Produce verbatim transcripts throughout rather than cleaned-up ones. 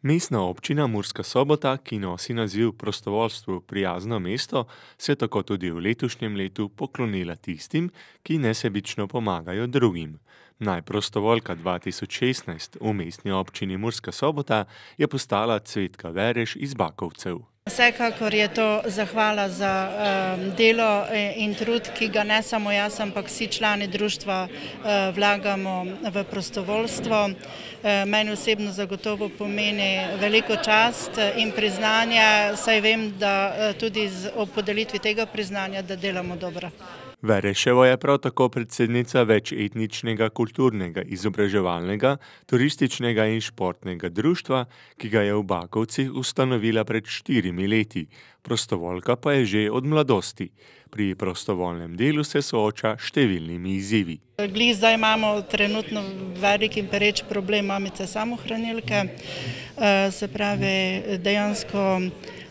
Mestna občina Murska Sobota, ki nosi naziv Prostovoljstvu prijazno mesto, se je tako tudi v letošnjem letu poklonila tistim, ki nesebično pomagajo drugim. Najprostovoljka dva tisoč šestnajst v mestni občini Murska Sobota je postala Cvetka Vereš iz Bakovcev. Vsekakor je to zahvala za um, delo in trud, ki ga ne samo jaz, ampak vsi člani društva uh, vlagamo v prostovoljstvo. Uh, meni osebno zagotovo pomeni veliko čast in priznanje, saj vem, da uh, tudi z, ob podelitvi tega priznanja, da delamo dobro. Vereševa je prav tako predsednica večetničnega, kulturnega, izobraževalnega, turističnega in športnega društva, ki ga je v Bakovcih ustanovila pred štirimi leti. Prostovoljka pa je že od mladosti. Pri prostovoljnem delu se sooča številnimi izzivi. Glih zdaj imamo trenutno velik in pereč problem mamice samohranilke. Se pravi, dejansko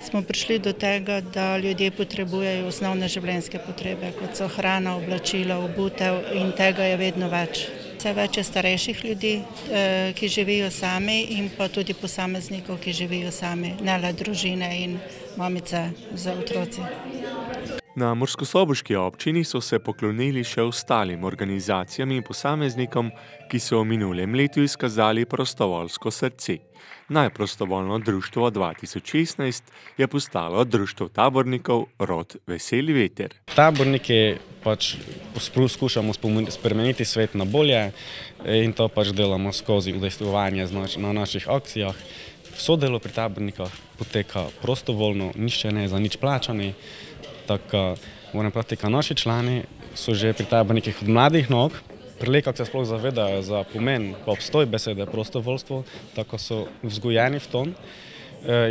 smo prišli do tega, da ljudje potrebujejo osnovne življenjske potrebe, kot so hrana, oblačila, obutev, in tega je vedno več. Vse več je starejših ljudi, ki živijo sami, in pa tudi posameznikov, ki živijo sami, ne le družine in mamice z otroci. Na murskosoboški občini so se poklonili še ostalim organizacijam in posameznikom, ki so v minulem letu izkazali prostovoljsko srce. Najprostovoljno društvo dva tisoč šestnajst je postalo društvo tabornikov Rod Veseli veter. Taborniki pač poskušamo spremeniti svet na bolje in to pač delamo skozi udejstvovanje na naših akcijah. Vso delo pri tabornikah poteka prostovoljno, nišče ne za nič plačani. Tako moram praviti, da naši člani so že pri tabornikih od mladih nog, prelekak se sploh zavedajo za pomen pa obstoj besede prostovoljstvo, tako so vzgojeni v ton.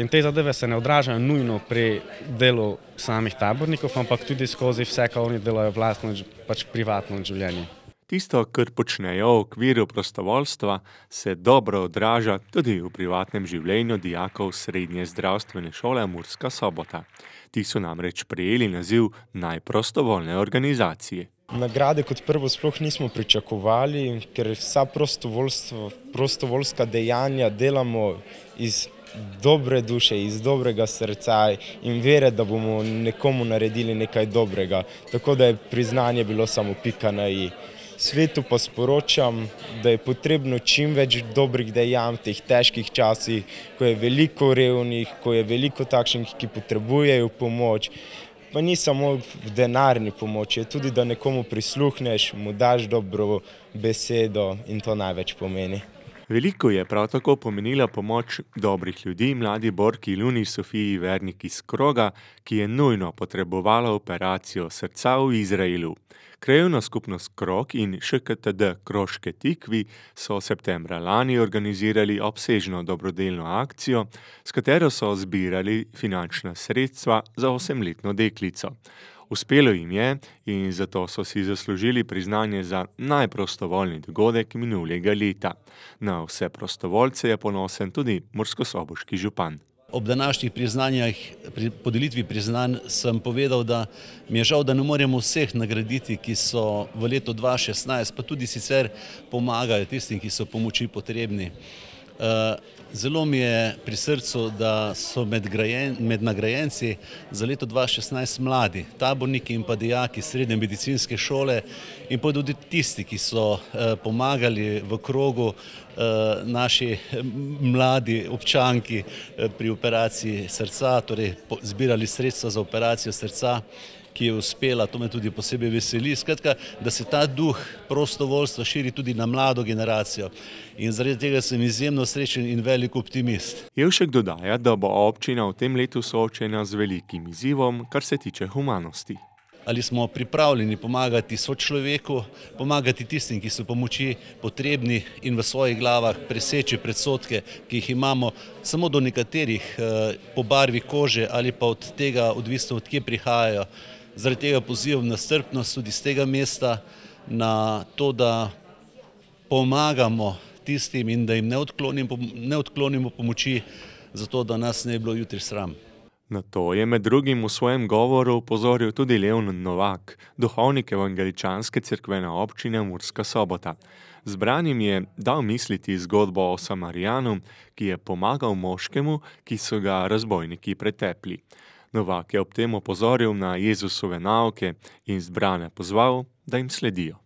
In te zadeve se ne odražajo nujno pri delu samih tabornikov, ampak tudi skozi vse, kar oni delajo vlastno, pač privatno življenje. Tisto, kar počnejo v okviru prostovoljstva, se dobro odraža tudi v privatnem življenju dijakov Srednje zdravstvene šole Murska Sobota. Ti so namreč prejeli naziv najprostovoljne organizacije. Nagrade kot prvo sploh nismo pričakovali, ker vsa prostovoljska dejanja delamo iz dobre duše, iz dobrega srca in vere, da bomo nekomu naredili nekaj dobrega. Tako da je priznanje bilo samo pika na i. Svetu pa sporočam, da je potrebno čim več dobrih dejanj v teh težkih časih, ko je veliko revnih, ko je veliko takšnih, ki potrebujejo pomoč. Pa ni samo v denarni pomoči, je tudi, da nekomu prisluhneš, mu daš dobro besedo in to največ pomeni. Veliko je prav tako pomenila pomoč dobrih ljudi mladi borki Luni Sofiji Vernik iz Kroga, ki je nujno potrebovala operacijo srca v Izraelu. Krajevna skupnost Krog in Š K T D Kroške Tikvi so septembra lani organizirali obsežno dobrodelno akcijo, s katero so zbirali finančna sredstva za osemletno deklico. Uspelo jim je in zato so si zaslužili priznanje za najprostovoljni dogodek minulega leta. Na vse prostovoljce je ponosen tudi murskosoboški župan. Ob današnjih priznanjih, pri podelitvi priznanj sem povedal, da mi je žal, da ne moremo vseh nagraditi, ki so v letu dva tisoč šestnajst, pa tudi sicer pomagajo tistim, ki so pomoči potrebni. Zelo mi je pri srcu, da so med, grajen, med nagrajenci za leto dva tisoč šestnajst mladi, taborniki in pa dijaki Srednje medicinske šole in pa tudi tisti, ki so pomagali v Krogu naši mladi občanki pri operaciji srca, torej zbirali sredstva za operacijo srca, ki je uspela, to me tudi posebej veseli. Skratka, da se ta duh prostovoljstva širi tudi na mlado generacijo. In zaradi tega sem izjemno srečen in velik optimist. Jevšek dodaja, da bo občina v tem letu soočena z velikim izzivom, kar se tiče humanosti. Ali smo pripravljeni pomagati sočloveku, pomagati tistim, ki so pomoči potrebni in v svojih glavah preseči predsodke, ki jih imamo samo do nekaterih po barvi kože ali pa od tega odvisno, od kje prihajajo. Zaradi tega pozivam na strpnost tudi z tega mesta, na to, da pomagamo tistim in da jim ne odklonimo, ne odklonimo pomoči, zato da nas ne bi bilo jutri sram. Na to je med drugim v svojem govoru opozoril tudi Leon Novak, duhovnik evangeličanske cerkvene občine Murska Sobota. Zbranim je dal misliti zgodbo o Samarijanu, ki je pomagal moškemu, ki so ga razbojniki pretepli. Novak je ob tem opozoril na Jezusove nauke in zbrane pozval, da jim sledijo.